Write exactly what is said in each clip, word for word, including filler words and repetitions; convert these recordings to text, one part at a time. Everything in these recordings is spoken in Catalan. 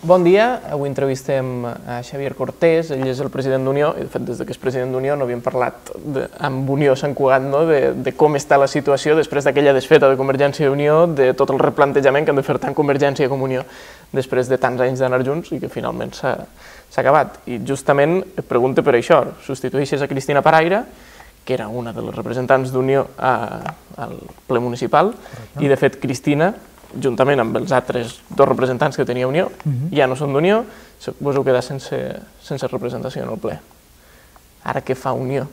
Bon dia, avui entrevistem a Xavier Cortés, ell és el president d'Unió, i de fet des que és president d'Unió no havíem parlat de, amb Unió Sant Cugat, no? de, de com està la situació després d'aquella desfeta de Convergència i Unió, de tot el replantejament que han de fer tant Convergència com Unió després de tants anys d'anar junts i que finalment s'ha acabat. I justament et pregunto per això, substitueixes a Cristina Paraire, que era una de les representants d'Unió al ple municipal, i de fet Cristina, juntament amb els altres dos representants que tenia Unió, ja no són d'Unió, vos heu quedat sense representació en el ple. Ara què fa Unió?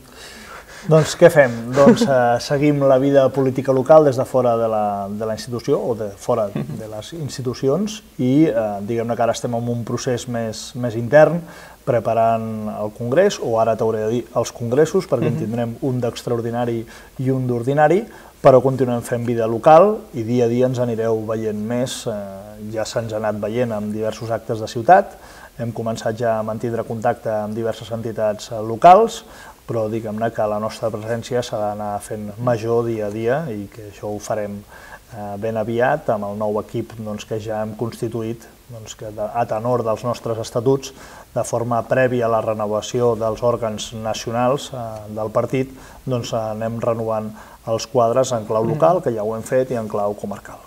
Doncs què fem? Doncs seguim la vida política local des de fora de la institució o de fora de les institucions i diguem-ne que ara estem en un procés més intern preparant el congrés, o ara t'hauré de dir els congressos, perquè en tindrem un d'extraordinari i un d'ordinari, però continuem fent vida local i dia a dia ens anireu veient més, ja se'ns ha anat veient amb diversos actes de ciutat, hem començat ja a mantindre contacte amb diverses entitats locals, però diguem-ne que la nostra presència s'ha d'anar fent major dia a dia i que això ho farem ben aviat amb el nou equip que ja hem constituït a tenor dels nostres estatuts, de forma prèvia a la renovació dels òrgans nacionals del partit, doncs anem renovant els quadres en clau local, que ja ho hem fet, i en clau comarcal.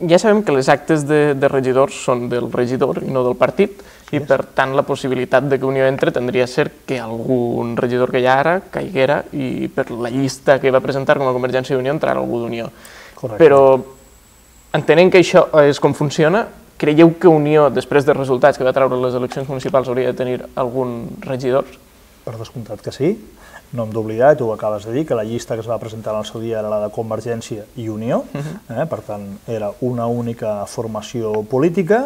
Ja sabem que les actes de regidors són del regidor i no del partit, i per tant la possibilitat que Unió entre tindria a ser que algun regidor que hi ha ara caiguera i per la llista que va presentar com a Convergència i Unió entrarà algú d'Unió. Però entenent que això és com funciona, creieu que Unió, després dels resultats que va treure les eleccions municipals, hauria de tenir algun regidor? Per descomptat que sí. No hem d'oblidar, i tu ho acabes de dir, que la llista que es va presentar en el seu dia era la de Convergència i Unió, per tant era una única formació política,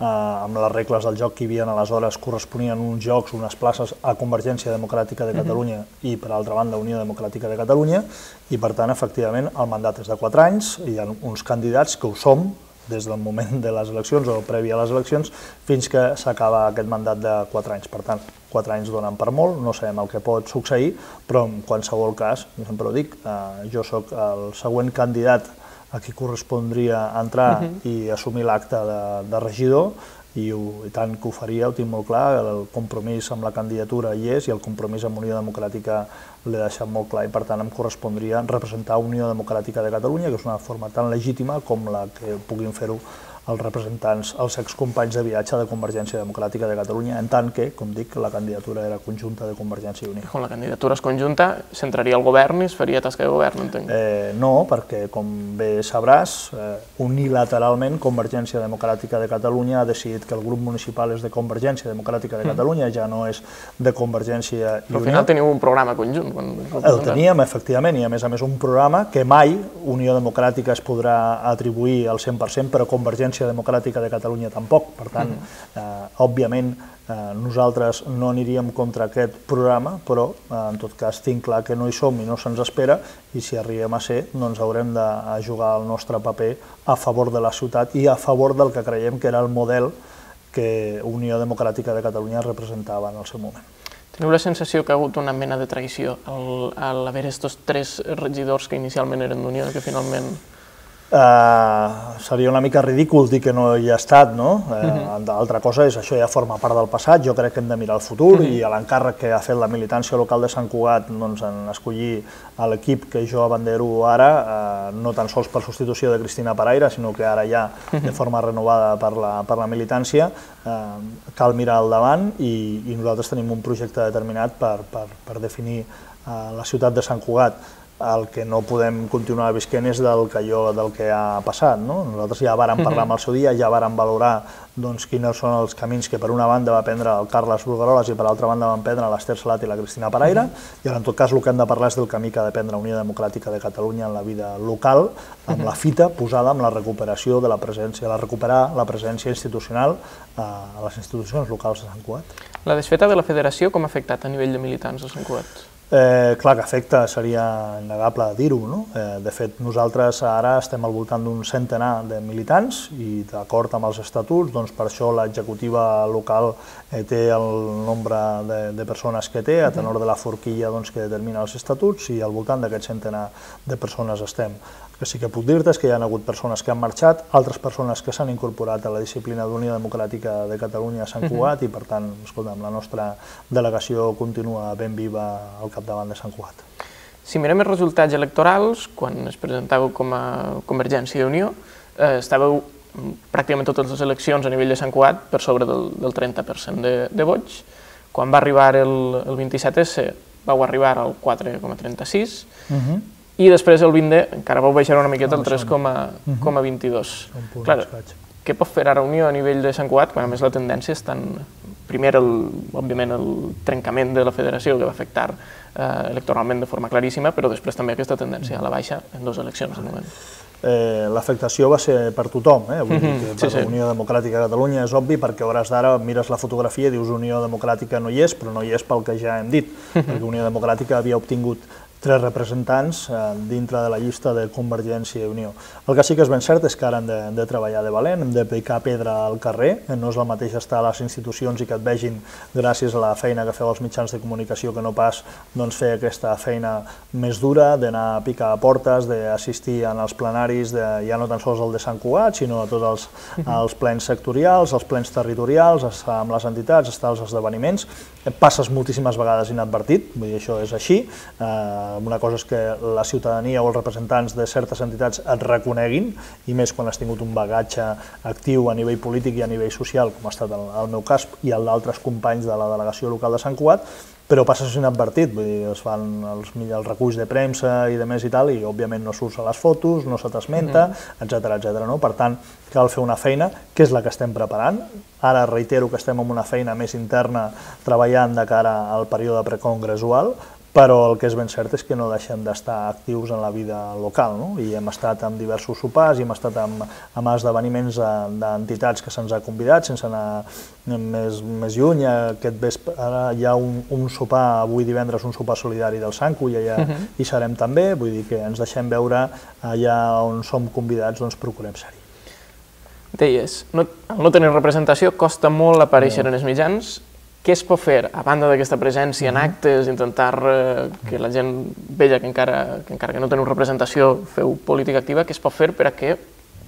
amb les regles del joc que hi havia aleshores corresponien uns jocs, unes places a Convergència Democràtica de Catalunya i per altra banda Unió Democràtica de Catalunya, i per tant efectivament el mandat és de quatre anys, hi ha uns candidats que ho som des del moment de les eleccions o previ a les eleccions fins que s'acaba aquest mandat de quatre anys. Per tant, quatre anys donen per molt, no sabem el que pot succeir, però en qualsevol cas, sempre ho dic, jo sóc el següent candidat a qui correspondria entrar i assumir l'acte de regidor, i tant que ho faria, ho tinc molt clar, el compromís amb la candidatura hi és i el compromís amb Unió Democràtica l'he deixat molt clar i per tant em correspondria representar Unió Democràtica de Catalunya, que és una forma tan legítima com la que puguin fer-ho els representants, els excompanys de viatge de Convergència Democràtica de Catalunya, en tant que, com dic, la candidatura era conjunta de Convergència i Unió. Com la candidatura és conjunta, s'entraria al govern i es faria tasca de govern, entenc? No, perquè, com bé sabràs, unilateralment Convergència Democràtica de Catalunya ha decidit que el grup municipal és de Convergència Democràtica de Catalunya, ja no és de Convergència i Unió. Però al final teniu un programa conjunt. El teníem, efectivament, i a més a més un programa que mai Unió Democràtica es podrà atribuir al cent per cent, però Convergència Democràtica de Catalunya tampoc. Per tant, òbviament, nosaltres no aniríem contra aquest programa, però en tot cas tinc clar que no hi som i no se'ns espera, i si arribem a ser, doncs haurem de jugar el nostre paper a favor de la ciutat i a favor del que creiem que era el model que Unió Democràtica de Catalunya representava en el seu moment. Teniu la sensació que ha hagut una mena de traïció al haver estos tres regidors que inicialment eren d'Unió i que finalment... Seria una mica ridícul dir que no hi ha estat, no? L'altra cosa és això ja forma part del passat, jo crec que hem de mirar el futur i l'encàrrec que ha fet la militància local de Sant Cugat en escollir l'equip que jo abandero ara, no tan sols per substitució de Cristina Paraire, sinó que ara ja de forma renovada per la militància, cal mirar al davant i nosaltres tenim un projecte determinat per definir la ciutat de Sant Cugat. El que no podem continuar visquent és del que ha passat. Nosaltres ja vàrem parlar amb el seu dia, ja vàrem valorar quins són els camins que per una banda va prendre el Carles Brugueroles i per l'altra banda van prendre l'Ester Salat i la Cristina Paraire, i en tot cas el que hem de parlar és del camí que ha de prendre Unió Democràtica de Catalunya en la vida local, amb la fita posada amb la recuperació de la presència, la recuperar la presència institucional a les institucions locals de Sant Cugat. La desfeta de la federació com ha afectat a nivell de militants a Sant Cugat? Clar que afecta, seria innegable dir-ho, no? De fet, nosaltres ara estem al voltant d'un centenar de militants i d'acord amb els estatuts, doncs per això l'executiva local té el nombre de persones que té, a tenor de la forquilla que determina els estatuts, i al voltant d'aquest centenar de persones estem. que sí que puc dir-te és que hi ha hagut persones que han marxat, altres persones que s'han incorporat a la disciplina d'Unió Democràtica de Catalunya a Sant Cugat i, per tant, escolta'm, la nostra delegació continua ben viva al capdavant de Sant Cugat. Si mirem els resultats electorals, quan es presentàveu com a Convergència i Unió, eh, estàveu pràcticament totes les eleccions a nivell de Sant Cugat per sobre del, del trenta per cent de, de vots. Quan va arribar el, el vint-i-set esse, vau arribar al quatre coma trenta-sis, uh-huh. i després el vint de encara vau baixar una miqueta al tres coma vint-i-dos. Clar, què pot fer ara Unió a nivell de Sant Cugat, quan a més la tendència és tan... Primer, el, òbviament, el trencament de la federació que va afectar eh, electoralment de forma claríssima, però després també aquesta tendència a la baixa en dues eleccions de moment. Eh, l'afectació va ser per tothom, eh? Vull dir que per la Unió Democràtica de Catalunya és obvi, perquè a hores d'ara mires la fotografia i dius Unió Democràtica no hi és, però no hi és pel que ja hem dit, perquè Unió Democràtica havia obtingut tres representants eh, dintre de la llista de Convergència i Unió. El que sí que és ben cert és que ara hem de, de treballar de valent, hem de picar pedra al carrer, no és el mateix estar a les institucions i que et vegin gràcies a la feina que feu els mitjans de comunicació que no pas doncs, fer aquesta feina més dura, d'anar a picar a portes, d'assistir en els plenaris, de, ja no tan sols el de Sant Cugat, sinó a tots els, els plens sectorials, els plens territorials, estar amb les entitats, estar als esdeveniments. Passes moltíssimes vegades inadvertit, vull dir, això és així. Eh, Una cosa és que la ciutadania o els representants de certes entitats et reconeguin, i més quan has tingut un bagatge actiu a nivell polític i a nivell social, com ha estat el, el meu cas i el d'altres companys de la delegació local de Sant Cugat, però passes inadvertit, vull dir, es fan els, els reculls de premsa i de més i tal, i òbviament no surts a les fotos, no se t'esmenta, etcètera, etcètera. No? Per tant, cal fer una feina, que és la que estem preparant. Ara reitero que estem en una feina més interna treballant de cara al període precongressual, però el que és ben cert és que no deixem d'estar actius en la vida local, no? I hem estat en diversos sopars i hem estat en, en esdeveniments d'entitats que se'ns ha convidat, sense anar més, més lluny. Aquest vespre, ara hi ha un, un sopar, avui divendres, un sopar solidari del Sanco, i allà uh-huh. hi serem també, vull dir que ens deixem veure allà on som convidats, doncs procurem ser-hi. Deies, no, al no tenir representació costa molt aparèixer en els mitjans. Què es pot fer, a banda d'aquesta presència en actes, intentar eh, que la gent vegi que encara, que encara que no teniu representació feu política activa, què es pot fer per a que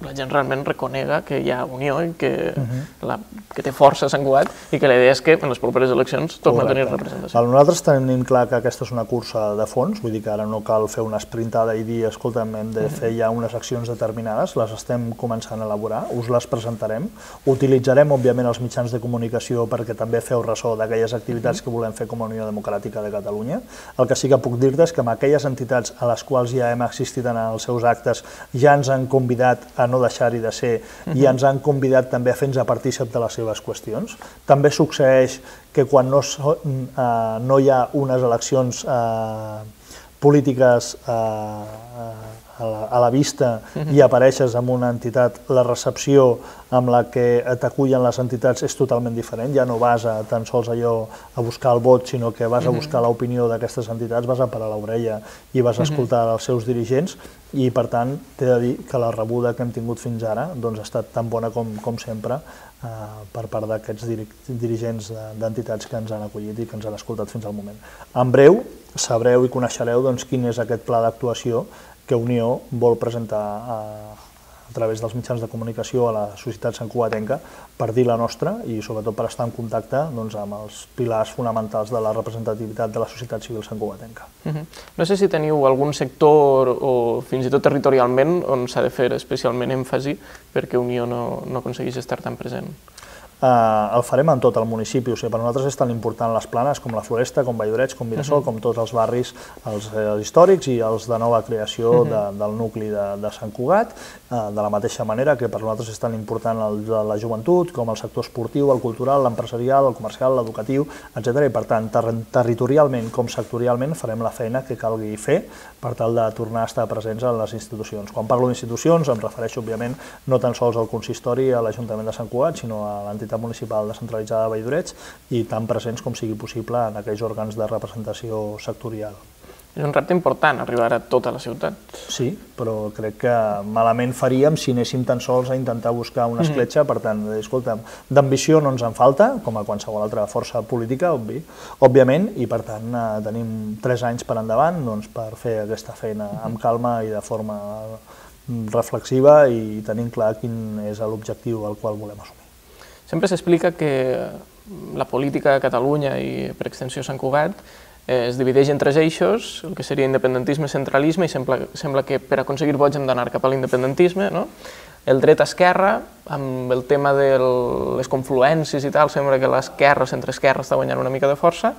la gent realment reconega que hi ha unió i que, uh-huh. la, que té força Sant Cugat i que la idea és que en les properes eleccions torna a tenir representació? Nosaltres tenim clar que aquesta és una cursa de fons, vull dir que ara no cal fer una esprintada i dir, escolta'm, hem de fer ja unes accions determinades, les estem començant a elaborar, us les presentarem, utilitzarem, òbviament, els mitjans de comunicació perquè també feu ressò d'aquelles activitats que volem fer com a Unió Democràtica de Catalunya. El que sí que puc dir-te és que amb aquelles entitats a les quals ja hem assistit en els seus actes ja ens han convidat a no deixar-hi de ser i ens han convidat també a fer-nos partícip de les seves qüestions. També succeeix que quan no, eh, no hi ha unes eleccions eh, polítiques eh, a, la, a la vista i apareixes en una entitat, la recepció amb la que t'acullen les entitats és totalment diferent, ja no vas a tan sols allò a buscar el vot, sinó que vas a buscar l'opinió d'aquestes entitats, vas a parar l'orella i vas a escoltar els seus dirigents, i per tant t'he de dir que la rebuda que hem tingut fins ara doncs, ha estat tan bona com, com sempre eh, per part d'aquests dirigents d'entitats que ens han acollit i que ens han escoltat fins al moment. En breu sabreu i coneixereu doncs, quin és aquest pla d'actuació que Unió vol presentar a, a través dels mitjans de comunicació a la societat santcugatenca per dir la nostra i sobretot per estar en contacte doncs, amb els pilars fonamentals de la representativitat de la societat civil santcugatenca. Uh-huh. No sé si teniu algun sector o fins i tot territorialment on s'ha de fer especialment èmfasi perquè Unió no, no aconsegueix estar tan present. Uh, el farem en tot el municipi, o sigui, per nosaltres és tan important les planes com la Floresta, com Valldoreix, com Mirasol, uh-huh. com tots els barris, els, els històrics i els de nova creació uh-huh. de, del nucli de, de Sant Cugat, uh, de la mateixa manera que per nosaltres és tan important el, la joventut, com el sector esportiu, el cultural, l'empresarial, el comercial, l'educatiu, etcètera. I per tant, ter territorialment com sectorialment farem la feina que calgui fer per tal de tornar a estar presents en les institucions. Quan parlo d'institucions em refereixo, òbviament, no tan sols al consistori, a l'Ajuntament de Sant Cugat, sinó a l'entitat municipal descentralitzada de Valldoreix i tan presents com sigui possible en aquells òrgans de representació sectorial. És un repte important arribar a tota la ciutat. Sí, però crec que malament faríem si anéssim tan sols a intentar buscar una escletxa, per tant, escolta, d'ambició no ens en falta, com a qualsevol altra força política, obvi, òbviament, i per tant tenim tres anys per endavant doncs, per fer aquesta feina amb calma i de forma reflexiva i tenint clar quin és l'objectiu al qual volem assumir. Sempre s'explica que la política a Catalunya i per extensió Sant Cugat es divideix en tres eixos, el que seria independentisme, centralisme, i sembla, sembla que per aconseguir vots hem d'anar cap a l'independentisme, no? El dret-esquerra, amb el tema de les confluències i tal, sembla que l'esquerra, centre-esquerra, està guanyant una mica de força,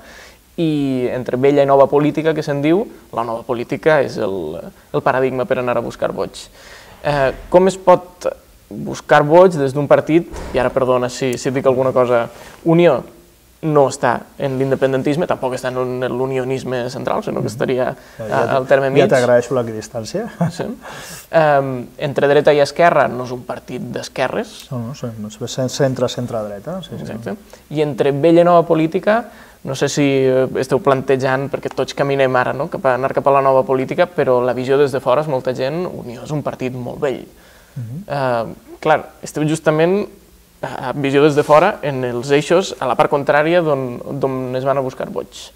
i entre vella i nova política, que se'n diu, la nova política és el, el paradigma per anar a buscar vots. Eh, com es pot buscar vots des d'un partit, i ara perdona si, si dic alguna cosa, Unió no està en l'independentisme, tampoc està en l'unionisme central, sinó que estaria ja, al terme mig. Ja t'agraeixo l'equidistància. Sí. Um, entre dreta i esquerra no és un partit d'esquerres. No, no, és centre-centre-dreta. Sí, exacte. Sí. I entre vella i nova política, no sé si esteu plantejant, perquè tots caminem ara, no? cap a anar cap a la nova política, però la visió des de fora és molta gent, Unió és un partit molt vell. Uh-huh. uh, clar, esteu justament a visió des de fora en els eixos a la part contrària d'on es van a buscar vots.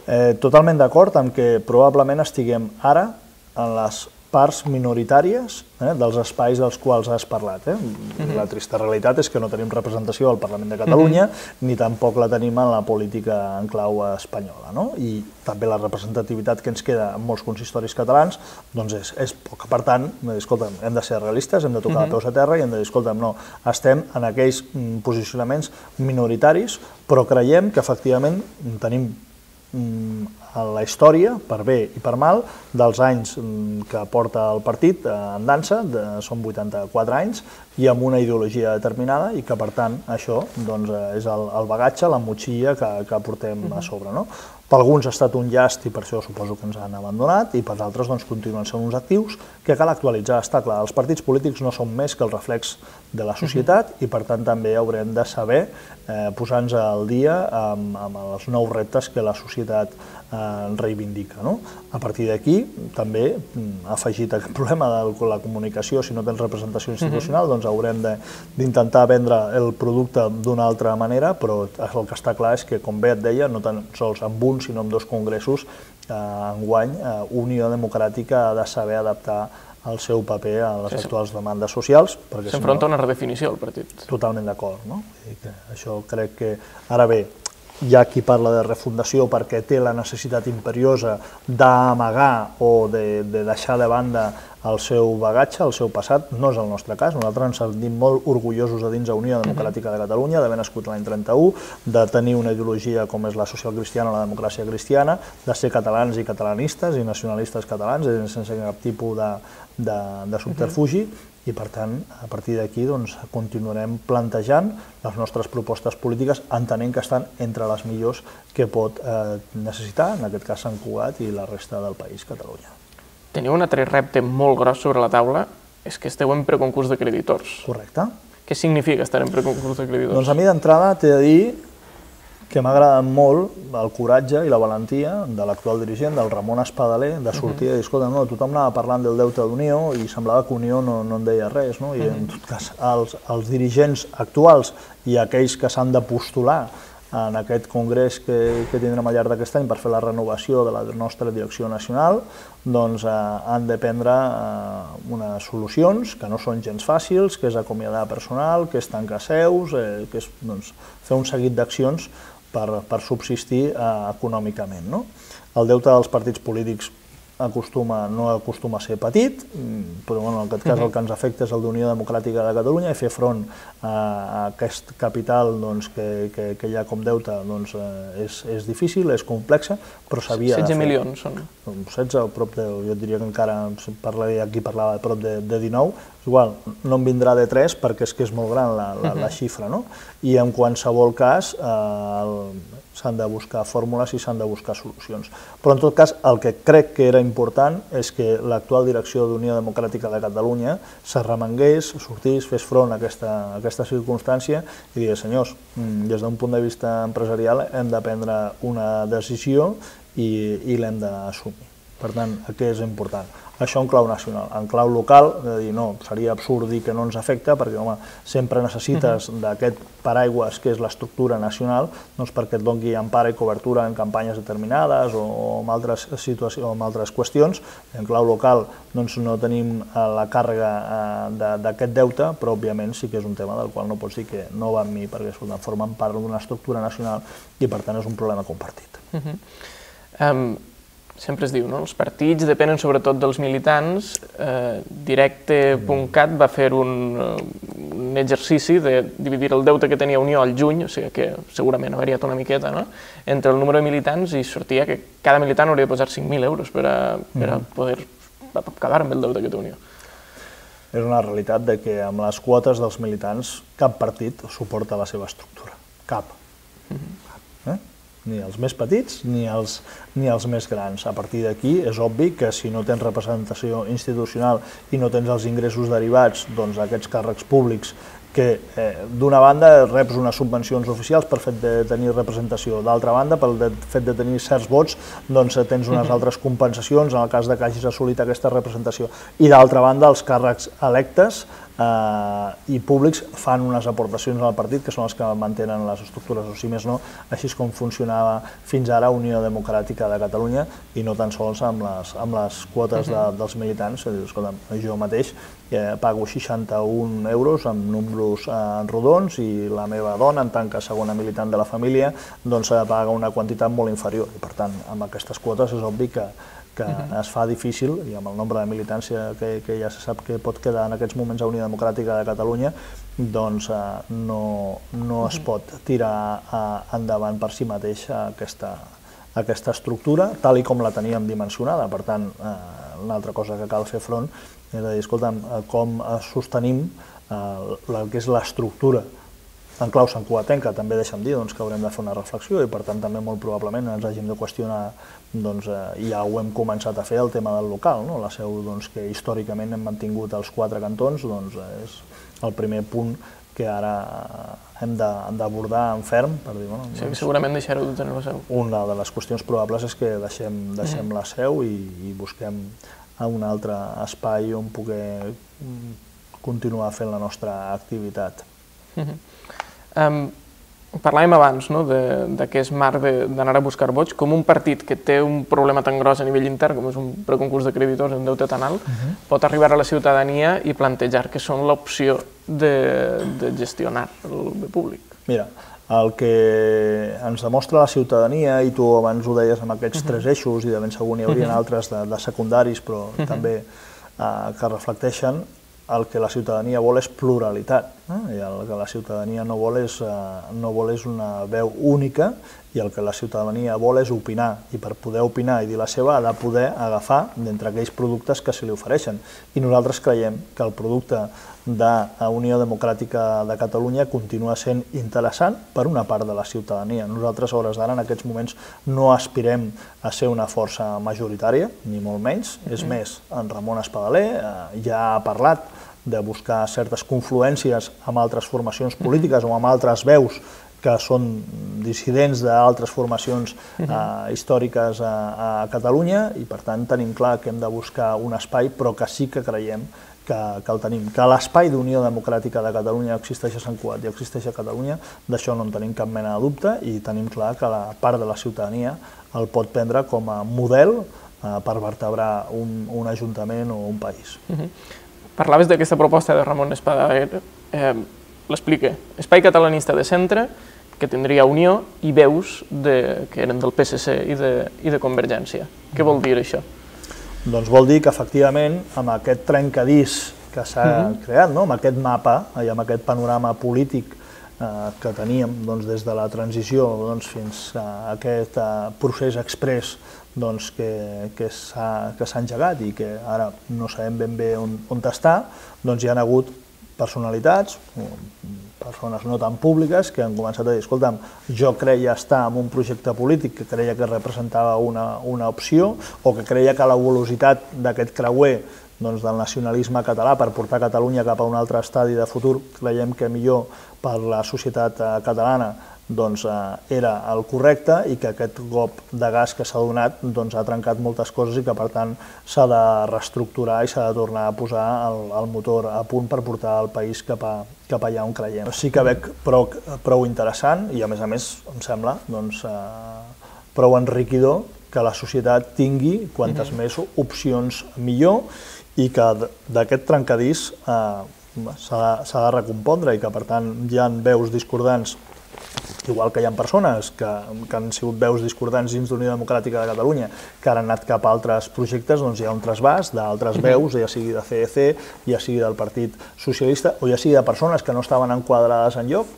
Eh, totalment d'acord amb que probablement estiguem ara en les parts minoritàries eh, dels espais dels quals has parlat. Eh? Uh-huh. La trista realitat és que no tenim representació al Parlament de Catalunya, uh-huh. ni tampoc la tenim en la política en clau espanyola. No? I també la representativitat que ens queda en molts consistoris catalans doncs és, és poca. Per tant, escolta'm, hem de ser realistes, hem de tocar uh-huh. peus a terra i hem de dir, escolta'm, no, estem en aquells posicionaments minoritaris, però creiem que efectivament tenim a la història, per bé i per mal, dels anys que porta el partit en dansa, són vuitanta-quatre anys, i amb una ideologia determinada, i que per tant això és el bagatge, la motxilla que portem a sobre. Per alguns ha estat un llast i per això suposo que ens han abandonat, i per altres continuen sent uns actius que cal actualitzar. Està clar, els partits polítics no són més que el reflex de la societat i per tant també haurem de saber posar-nos al dia amb els nous reptes que la societat reivindica. A partir d'aquí també ha afegit aquest problema de la comunicació, si no tens representació institucional doncs haurem d'intentar vendre el producte d'una altra manera, però el que està clar és que, com bé et deia, no tan sols amb un sinó amb dos congressos enguany, Unió Democràtica ha de saber adaptar el seu paper a les actuals demandes socials. S'enfronta a una redefinició el partit. Totalment d'acord. Això crec que, ara bé, hi ha qui parla de refundació perquè té la necessitat imperiosa d'amagar o de deixar de banda el seu bagatge, el seu passat. No és el nostre cas. Nosaltres ens sentim molt orgullosos de dins la Unió Democràtica de Catalunya, d'haver nascut l'any trenta-u, de tenir una ideologia com és la socialcristiana o la democràcia cristiana, de ser catalans i catalanistes i nacionalistes catalans, sense cap tipus de subterfugi, i per tant, a partir d'aquí continuarem plantejant les nostres propostes polítiques, entenent que estan entre les millors que pot necessitar, en aquest cas Sant Cugat i la resta del país, Catalunya. Teniu un altre repte molt gros sobre la taula, és que esteu en preconcurs de creditors. Correcte. Què significa estar en preconcurs de creditors? Doncs a mi d'entrada t'he de dir que m'agrada molt el coratge i la valentia de l'actual dirigent, del Ramon Espadaler, de sortir i dir, escolta, no, tothom anava parlant del deute d'Unió i semblava que Unió no en deia res, no? I en tot cas els dirigents actuals i aquells que s'han de postular en aquest congrés que tindrem al llarg d'aquest any per fer la renovació de la nostra direcció nacional, doncs han de prendre unes solucions que no són gens fàcils, que és acomiadar personal, que és tancar seus, que és fer un seguit d'accions per subsistir econòmicament. El deute dels partits polítics no acostuma a ser petit, però en aquest cas el que ens afecta és el d'Unió Democràtica de Catalunya i fer front a aquest capital que hi ha com deute és difícil, és complexa, però s'havia de fer. setze milions són. setze, prop de, jo diria que encara aquí parlava de prop de dinou, igual, no em vindrà de tres perquè és que és molt gran la xifra, no? I en qualsevol cas s'han de buscar fórmules i s'han de buscar solucions. Però en tot cas el que crec que era important és que l'actual direcció d'Unió Democràtica de Catalunya s'arremangués, sortís, fes front a aquesta circumstància i digués, senyors, des d'un punt de vista empresarial hem de prendre una decisió i l'hem d'assumir. Per tant, què és important? Això en clau nacional. En clau local, de dir, no, seria absurd dir que no ens afecta, perquè, home, sempre necessites d'aquest paraigües que és l'estructura nacional, doncs perquè et doni empara i cobertura en campanyes determinades o en altres situacions o en altres qüestions. En clau local doncs no tenim la càrrega d'aquest deute, però òbviament sí que és un tema del qual no pots dir que no va amb mi, perquè formen part d'una estructura nacional i per tant és un problema compartit. Sempre es diu, no? Els partits depenen sobretot dels militants. Directe punt cat va fer un exercici de dividir el deute que tenia Unió al juny, o sigui que segurament ha variat una miqueta, no? Entre el número de militants i sortia que cada militant hauria de posar cinc mil euros per a poder acabar amb el deute que té Unió. És una realitat que amb les quotes dels militants cap partit suporta la seva estructura. Cap. Ni els més petits ni els, ni els més grans. A partir d'aquí és obvi que si no tens representació institucional i no tens els ingressos derivats d'aquests càrrecs públics que d'una banda reps unes subvencions oficials per fet de tenir representació, d'altra banda pel fet de tenir certs vots doncs tens unes altres compensacions en el cas que hagis assolit aquesta representació i d'altra banda els càrrecs electes i públics fan unes aportacions al partit que són els que mantenen les estructures, o si més no, així com funcionava fins ara Unió Democràtica de Catalunya i no tan sols amb les quotes dels militants. Escolta, jo mateix pago seixanta-un euros amb números rodons i la meva dona, en tant que segona militant de la família, doncs paga una quantitat molt inferior i per tant amb aquestes quotes és obvi que que es fa difícil, i amb el nombre de militants que ja se sap que pot quedar en aquests moments a Unió Democràtica de Catalunya, doncs no es pot tirar endavant per si mateix aquesta estructura, tal i com la teníem dimensionada. Per tant, una altra cosa que cal fer front és a dir, escolta'm, com sostenim el que és l'estructura en clau santcugatenca. També deixa'm dir que haurem de fer una reflexió i per tant també molt probablement ens hàgim de qüestionar, i ja ho hem començat a fer, el tema del local. La seu que històricament hem mantingut als quatre cantons és el primer punt que ara hem d'abordar en ferm. Segurament deixar-ho de tenir la seu. Una de les qüestions probables és que deixem la seu i busquem un altre espai on poder continuar fent la nostra activitat. Parlàvem abans d'aquest marc d'anar a buscar vots, com un partit que té un problema tan gros a nivell intern com és un preconcurs de creditors en deute tan alt, pot arribar a la ciutadania i plantejar que són l'opció de gestionar el bé públic. Mira, el que ens demostra la ciutadania, i tu abans ho deies amb aquests tres eixos, i de ben segur n'hi haurien altres de secundaris, però també que reflecteixen, el que la ciutadania vol és pluralitat, i el que la ciutadania no vol és una veu única, i el que la ciutadania vol és opinar, i per poder opinar i dir la seva ha de poder agafar d'entre aquells productes que se li ofereixen. I nosaltres creiem que el producte de Unió Democràtica de Catalunya continua sent interessant per una part de la ciutadania. Nosaltres, a hores d'ara, en aquests moments, no aspirem a ser una força majoritària, ni molt menys. És més, en Ramon Espadaler ja ha parlat de buscar certes confluències amb altres formacions polítiques o amb altres veus que són dissidents d'altres formacions històriques a Catalunya i, per tant, tenim clar que hem de buscar un espai, però que sí que creiem que el tenim. Que l'espai d'Unió Democràtica de Catalunya existeix a Sant Cugat i existeix a Catalunya, d'això no en tenim cap mena de dubte i tenim clar que la part de la ciutadania el pot prendre com a model per vertebrar un ajuntament o un país. Parlaves d'aquesta proposta de Ramon Espadaler, l'explica. Espai catalanista de centre, que tindria Unió, i veus que eren del P S C i de Convergència. Què vol dir això? Doncs vol dir que, efectivament, amb aquest trencadís que s'ha creat, amb aquest mapa i amb aquest panorama polític que teníem des de la transició fins a aquest procés exprés que s'ha engegat i que ara no sabem ben bé on està, hi ha hagut personalitats, persones no tan públiques, que han començat a dir, escolta'm, jo creia estar en un projecte polític que creia que representava una opció o que creia que la velocitat d'aquest creuer del nacionalisme català per portar Catalunya cap a un altre estadi de futur, creiem que millor per la societat catalana era el correcte i que aquest cop de gas que s'ha donat ha trencat moltes coses i que per tant s'ha de reestructurar i s'ha de tornar a posar el motor a punt per portar el país cap allà on creiem. Sí que veig prou interessant i a més a més em sembla prou enriquidor que la societat tingui quantes més opcions millor i que d'aquest trencadís s'ha de recompondre i que per tant hi ha veus discordants, igual que hi ha persones que han sigut veus discordants dins d'Unió Democràtica de Catalunya que han anat cap a altres projectes, doncs hi ha un trasbàs d'altres veus, ja sigui de C E C, ja sigui del Partit Socialista o ja sigui de persones que no estaven enquadrades enlloc,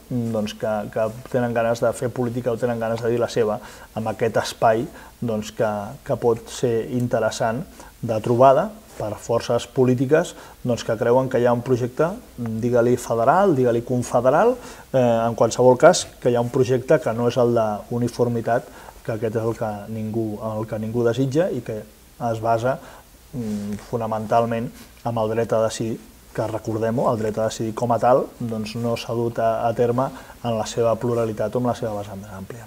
que tenen ganes de fer política o tenen ganes de dir la seva en aquest espai que pot ser interessant de trobada per forces polítiques que creuen que hi ha un projecte, digue-li federal, digue-li confederal, en qualsevol cas que hi ha un projecte que no és el d'uniformitat, que aquest és el que ningú desitja i que es basa fonamentalment en el dret a decidir, que recordem-ho, el dret a decidir com a tal no s'ha dut a terme en la seva pluralitat o en la seva vessant més àmplia.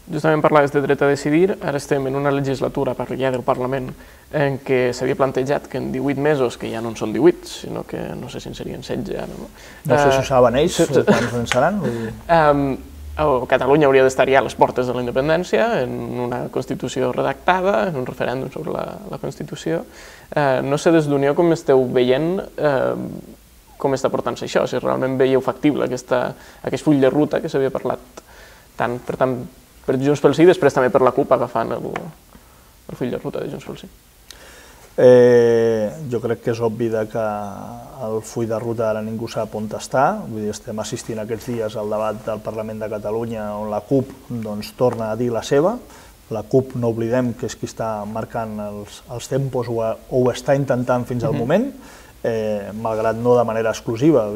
Justament parlaves de dret a decidir, ara estem en una legislatura per ja del Parlament en què s'havia plantejat que en divuit mesos, que ja no en són divuit, sinó que no sé si en serien setze ara, no? No sé si ho saben ells, quants en seran. Catalunya hauria d'estar ja a les portes de la independència, en una Constitució redactada, en un referèndum sobre la Constitució. No sé des d'Unió com esteu veient com està portant-se això, si realment veieu factible aquest full de ruta que s'havia parlat tant, per tant, per Junts pel Sí i després també per la CUP agafant el full de ruta de Junts pel Sí. Jo crec que és obvi que el full de ruta ara ningú sap on està, estem assistint aquests dies al debat del Parlament de Catalunya on la CUP torna a dir la seva. La CUP, no oblidem que és qui està marcant els tempos o ho està intentant fins al moment, malgrat no de manera exclusiva.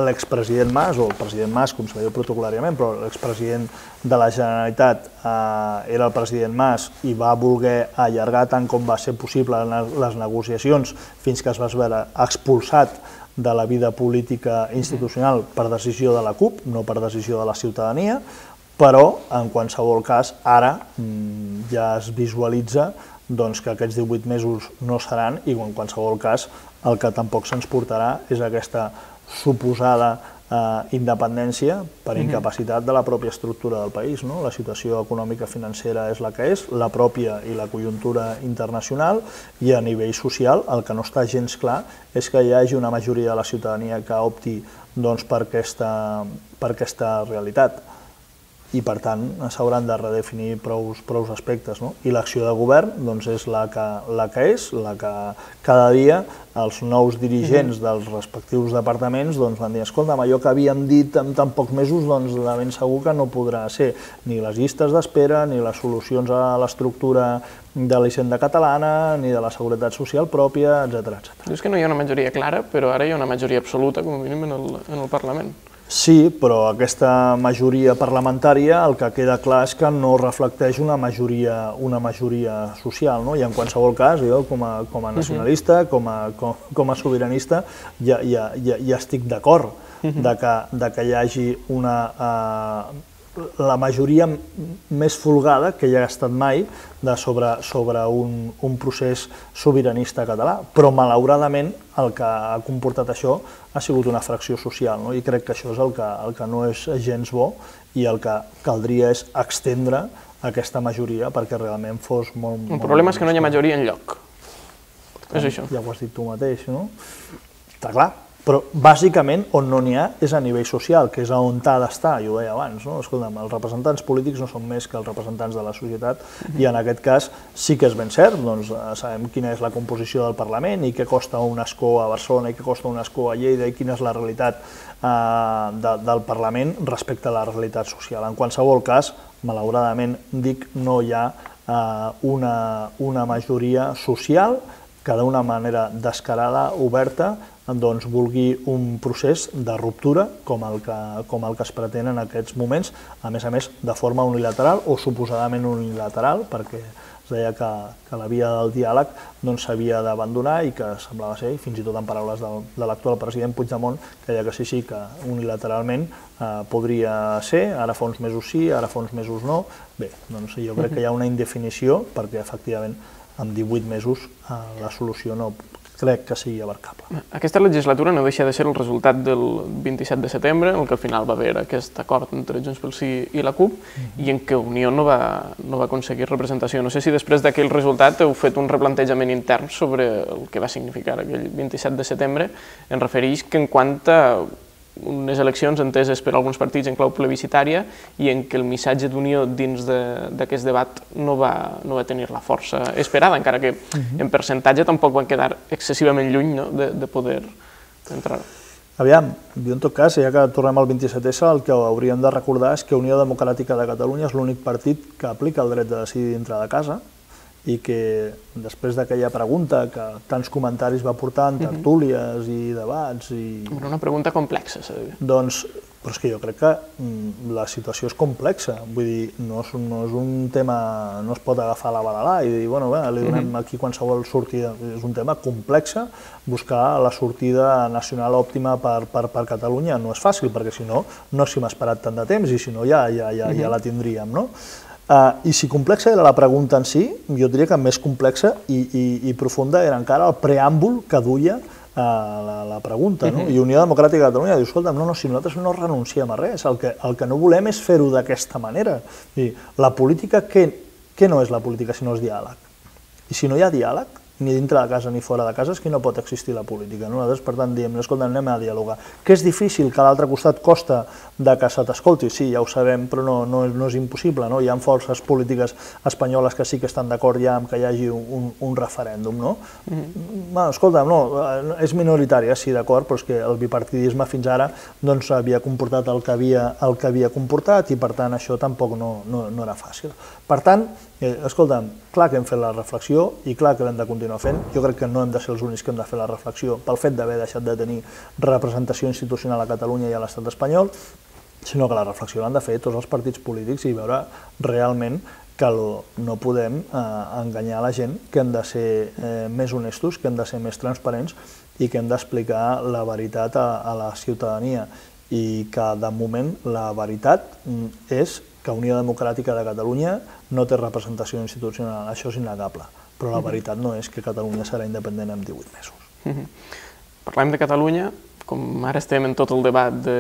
L'expresident Mas, o el president Mas, com se diu protocolàriament, però l'expresident de la Generalitat era el president Mas i va voler allargar tant com va ser possible les negociacions fins que es va veure expulsat de la vida política institucional per decisió de la CUP, no per decisió de la ciutadania, però en qualsevol cas ara ja es visualitza que aquests divuit mesos no seran i en qualsevol cas el que tampoc se'ns portarà és aquesta suposada independència per incapacitat de la pròpia estructura del país. La situació econòmica financera és la que és, la pròpia i la conjuntura internacional, i a nivell social el que no està gens clar és que hi hagi una majoria de la ciutadania que opti per aquesta realitat. I per tant s'hauran de redefinir prou aspectes. I l'acció de govern és la que és, la que cada dia els nous dirigents dels respectius departaments van dir escolta'm, allò que havíem dit en tan pocs mesos de ben segur que no podrà ser ni les llistes d'espera, ni les solucions a l'estructura de la hisenda catalana, ni de la seguretat social pròpia, etcètera. Dius que no hi ha una majoria clara, però ara hi ha una majoria absoluta, com a mínim, en el Parlament. Sí, però aquesta majoria parlamentària el que queda clar és que no reflecteix una majoria social, i en qualsevol cas, jo com a nacionalista, com a sobiranista, ja estic d'acord que hi hagi la majoria més folgada que hi ha estat mai sobre un procés sobiranista català, però malauradament el que ha comportat això ha sigut una fracció social, i crec que això és el que no és gens bo i el que caldria és estendre aquesta majoria perquè realment fos molt... El problema és que no hi ha majoria enlloc. És això. Ja ho has dit tu mateix, no? Està clar. Però bàsicament on no n'hi ha és a nivell social, que és on ha d'estar, jo ho deia abans. Escolta'm, els representants polítics no són més que els representants de la societat i en aquest cas sí que és ben cert, sabem quina és la composició del Parlament i què costa un escó a Barcelona i què costa un escó a Lleida i quina és la realitat del Parlament respecte a la realitat social. En qualsevol cas, malauradament, dic, no hi ha una majoria social que d'una manera descarada, oberta, doncs vulgui un procés de ruptura com el que, com el que es pretén en aquests moments, a més a més de forma unilateral o suposadament unilateral, perquè es deia que, que la via del diàleg s'havia d'abandonar i que semblava ser, fins i tot en paraules del, de l'actual president Puigdemont, que deia que sí, sí, que unilateralment eh, podria ser, ara fa uns mesos sí, ara fa uns mesos no. Bé, doncs jo crec que hi ha una indefinició perquè efectivament en divuit mesos eh, la solució no crec que sigui abarcable. Aquesta legislatura no deixa de ser el resultat del vint-i-set de setembre, en què al final va haver aquest acord entre Junts pel Sí i la CUP, uh-huh. i en què Unió no va, no va aconseguir representació. No sé si després d'aquell resultat heu fet un replantejament intern sobre el que va significar aquell vint-i-set de setembre, en refereix que en quant a unes eleccions enteses per alguns partits en clau plebiscitària i en què el missatge d'unió dins d'aquest debat no va, no va tenir la força esperada, encara que uh-huh. en percentatge tampoc van quedar excessivament lluny, no?, de, de poder entrar. Aviam, jo en tot cas, ja que tornem al vint-i-set essa, el que hauríem de recordar és que Unió Democràtica de Catalunya és l'únic partit que aplica el dret de decidir dintre de casa i que després d'aquella pregunta que tants comentaris va portar en tertúlies i debats i... Una pregunta complexa, s'ha de dir. Doncs, però és que jo crec que la situació és complexa, vull dir, no és, no és un tema, no es pot agafar la balalà i dir, bueno, bé, li donem aquí qualsevol sortida, és un tema complex, buscar la sortida nacional òptima per, per, per Catalunya no és fàcil, perquè si no, no s'hi hem esperat tant de temps i si no ja, ja, ja, ja la tindríem, no? Uh, I si complexa era la pregunta en si, jo diria que més complexa i, i, i profunda era encara el preàmbul que duia uh, la, la pregunta, no? I Unió Democràtica de Catalunya diu, escolta, no, no, si nosaltres no renunciem a res, el que, el que no volem és fer-ho d'aquesta manera. I la política, què, què no és la política si no és diàleg? I si no hi ha diàleg, ni dintre de casa ni fora de casa, és que no pot existir la política. Nosaltres, per tant, diem, escolta, anem a dialogar. Que és difícil, que a l'altre costat costa de que se t'escolti, sí, ja ho sabem, però no, no, no és impossible, no? Hi ha forces polítiques espanyoles que sí que estan d'acord ja amb que hi hagi un, un referèndum, no? Mm-hmm. Bueno, escolta, no, és minoritari, sí, d'acord, però és que el bipartidisme fins ara doncs, havia comportat el que havia, el que havia comportat i, per tant, això tampoc no, no, no era fàcil. Per tant, eh, escolta'm, clar que hem fet la reflexió i clar que l'hem de continuar fent. Jo crec que no hem de ser els únics que hem de fer la reflexió pel fet d'haver deixat de tenir representació institucional a Catalunya i a l'estat espanyol, sinó que la reflexió l'han de fer tots els partits polítics i veure realment que no podem eh, enganyar la gent, que hem de ser eh, més honestos, que hem de ser més transparents i que hem d'explicar la veritat a, a la ciutadania i que, de moment, la veritat és que Unió Democràtica de Catalunya no té representació institucional, això és innegable, però la veritat no és que Catalunya serà independent en divuit mesos. Parlem de Catalunya, com ara estem en tot el debat de,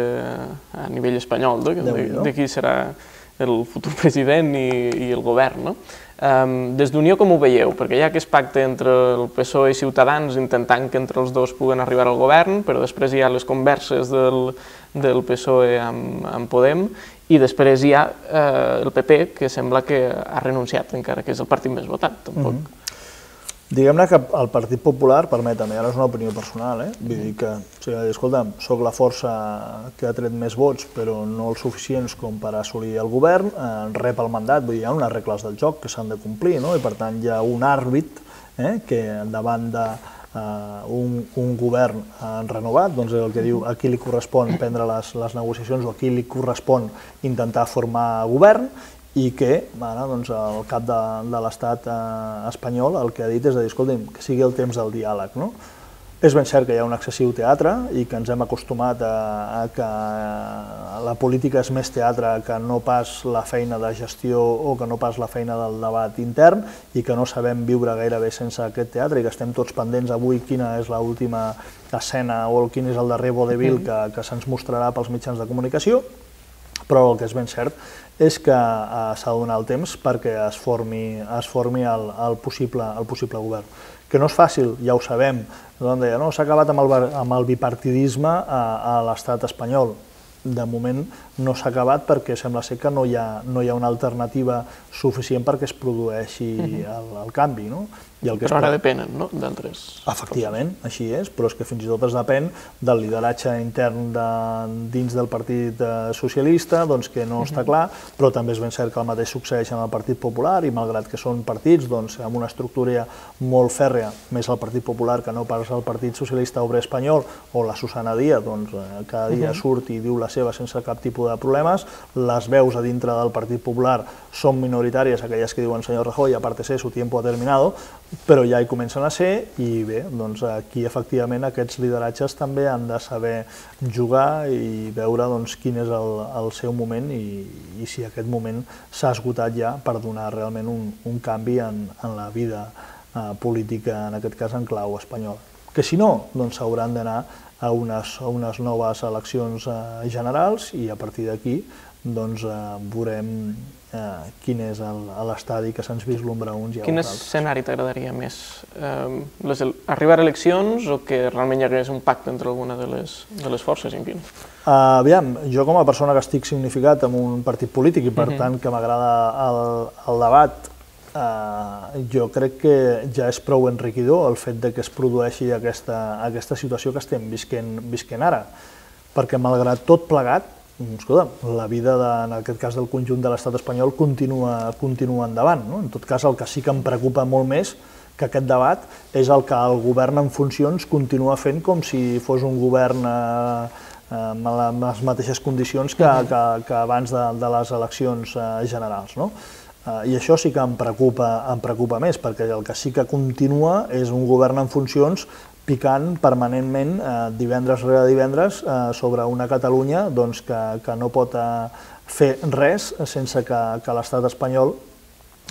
a nivell espanyol, de, de, de qui serà el futur president i, i el govern, no? Um, des d'Unió com ho veieu? Perquè hi ha aquest pacte entre el P S O E i Ciutadans intentant que entre els dos puguen arribar al govern, però després hi ha les converses del, del P S O E amb, amb Podem i després hi ha eh, el P P, que sembla que ha renunciat, encara que és el partit més votat, tampoc. Mm-hmm. Diguem-ne que el Partit Popular, permetem, ara és una opinió personal, eh? Vull dir que, o sigui, escolta'm, soc la força que ha tret més vots, però no els suficients com per assolir el govern, eh, rep el mandat, vull dir, hi ha unes regles del joc que s'han de complir, no? I per tant hi ha un àrbit eh, que davant de Uh, un, un govern uh, renovat, doncs el que diu a qui li correspon prendre les, les negociacions o a qui li correspon intentar formar govern i que ara, doncs, el cap de, de l'estat uh, espanyol el que ha dit és de dir, escolta'm, que sigui el temps del diàleg, no? És ben cert que hi ha un excessiu teatre i que ens hem acostumat a, a que la política és més teatre que no pas la feina de gestió o que no pas la feina del debat intern i que no sabem viure gairebé sense aquest teatre i que estem tots pendents avui quina és l'última escena o quin és el darrer vodevil que, que se'ns mostrarà pels mitjans de comunicació, però el que és ben cert és que eh, s'ha de donar el temps perquè es formi, es formi el, el, possible, el possible govern. Que no és fàcil, ja ho sabem, no, s'ha acabat amb el, amb el bipartidisme a, a l'estat espanyol. de moment no s'ha acabat perquè sembla ser que no hi ha, no hi ha una alternativa suficient perquè es produeixi el, el canvi. No? I el que però ara depenen, no?, d'altres... Efectivament, així és, però és que fins i tot es depèn del lideratge intern de, dins del Partit Socialista, doncs que no està clar, però també és ben cert que el mateix succeeix en el Partit Popular i malgrat que són partits doncs, amb una estructura molt fèrrea, més el Partit Popular que no pas el Partit Socialista Obrer Espanyol o la Susana Díaz, doncs cada dia surt i diu la seva sense cap tipus de problemes, les veus a dintre del Partit Popular són minoritàries, aquelles que diuen senyor Rajoy, aparte ser su tiempo ha terminado, però ja hi comencen a ser i bé, doncs aquí efectivament aquests lideratges també han de saber jugar i veure doncs, quin és el, el seu moment i, i si aquest moment s'ha esgotat ja per donar realment un, un canvi en, en la vida eh, política, en aquest cas en clau espanyola. Que si no, doncs s'hauran d'anar a unes, a unes noves eleccions eh, generals i a partir d'aquí doncs, eh, veurem Eh, quin és l'estadi que se'ns vislumbra uns i a Quin uns altres. Quin escenari t'agradaria més? Eh, les, arribar a eleccions o que realment hi hagués un pacte entre alguna de les, de les forces? En quin? Uh, aviam, jo com a persona que estic significat en un partit polític i per uh -huh. tant que m'agrada el, el debat, uh, jo crec que ja és prou enriquidor el fet de que es produeixi aquesta, aquesta situació que estem visquent, visquent ara, perquè malgrat tot plegat, escolta, la vida, de, en aquest cas del conjunt de l'estat espanyol, continua, continua endavant. No? En tot cas, el que sí que em preocupa molt més que aquest debat és el que el govern en funcions continua fent com si fos un govern eh, amb les mateixes condicions que, que, que abans de, de les eleccions eh, generals. No? Eh, I això sí que em preocupa, em preocupa més, perquè el que sí que continua és un govern en funcions picant permanentment eh, divendres rere divendres eh, sobre una Catalunya doncs, que, que no pot eh, fer res sense que, que l'estat espanyol,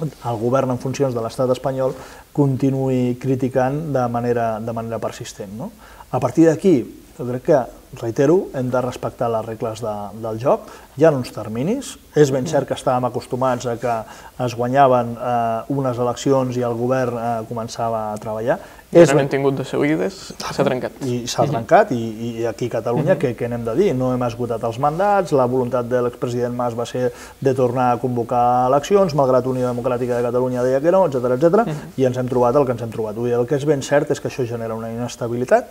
el govern en funcions de l'estat espanyol, continuï criticant de manera, de manera persistent. No? A partir d'aquí, jo crec que, reitero, hem de respectar les regles de, del joc, hi ha uns terminis, és ben cert que estàvem acostumats a que es guanyaven eh, unes eleccions i el govern eh, començava a treballar. I ara n'hem tingut de seguides, s'ha trencat. I s'ha trencat, i, i aquí a Catalunya, què, què n'hem de dir? No hem esgotat els mandats, la voluntat de l'expresident Mas va ser de tornar a convocar eleccions, malgrat Unió Democràtica de Catalunya deia que no, etcètera, etcètera, i ens hem trobat el que ens hem trobat. El que és ben cert és que això genera una inestabilitat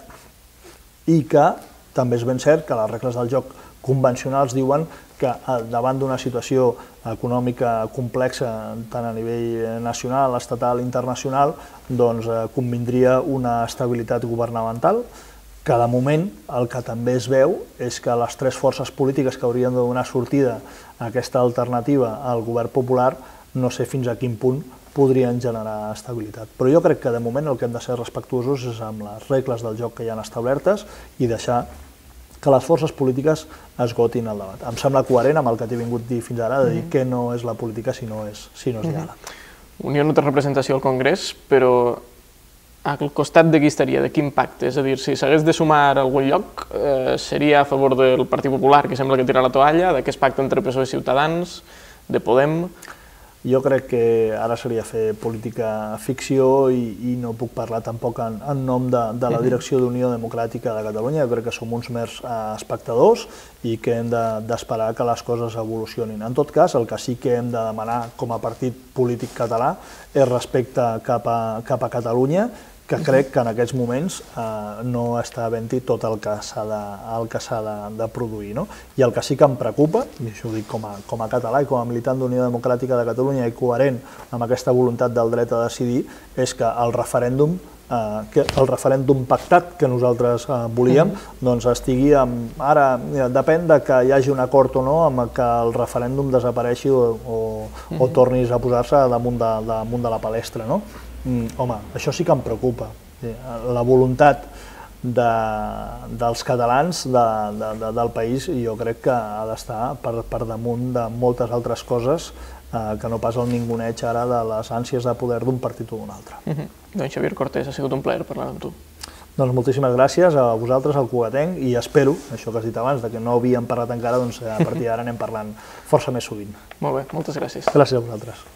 i que també és ben cert que les regles del joc convencionals diuen que davant d'una situació econòmica complexa tant a nivell nacional, estatal i internacional, doncs convindria una estabilitat governamental, que de moment el que també es veu és que les tres forces polítiques que haurien de donar sortida a aquesta alternativa al govern popular no sé fins a quin punt podrien generar estabilitat. Però jo crec que de moment el que hem de ser respectuosos és amb les regles del joc que hi ha establertes i deixar que les forces polítiques esgotin el debat. Em sembla coherent amb el que t'he vingut a dir fins ara, de dir que no és la política si no és, si no és diàleg. Unió no té representació al Congrés, però al costat de qui estaria, de quin pacte? És a dir, si s'hagués de sumar a algun lloc, eh, seria a favor del Partit Popular, que sembla que tira la toalla, d'aquest pacte entre P S O E i Ciutadans, de Podem... Jo crec que ara seria fer política ficció i, i no puc parlar tampoc en, en nom de, de la direcció d'Unió Democràtica de Catalunya. Jo crec que som uns mers eh, espectadors i que hem d'esperar de, que les coses evolucionin. En tot cas, el que sí que hem de demanar com a partit polític català és respecte cap a, cap a Catalunya, que crec que en aquests moments eh, no està havent-hi tot el que s'ha de, el que s'ha de, de produir. No? I el que sí que em preocupa, i això ho dic com a, com a català i com a militant d'Unió Democràtica de Catalunya i coherent amb aquesta voluntat del dret a decidir, és que el referèndum eh, que el referèndum pactat que nosaltres eh, volíem, mm-hmm. doncs estigui amb... Ara mira, depèn de que hi hagi un acord o no amb que el referèndum desapareixi o, o, mm-hmm. o tornis a posar-se damunt, de, damunt de la palestra, no? Mm, home, això sí que em preocupa. La voluntat de, dels catalans de, de, de, del país jo crec que ha d'estar per, per damunt de moltes altres coses eh, que no pas el ninguneig ara de les ànsies de poder d'un partit o d'un altre. Mm-hmm. Doncs Xavier Cortés, ha sigut un plaer parlar amb tu. Doncs moltíssimes gràcies a vosaltres, al Cugatenc, i espero, això que has dit abans, de que no havíem parlat encara, doncs a partir d'ara anem parlant força més sovint. Molt bé, moltes gràcies. Gràcies a vosaltres.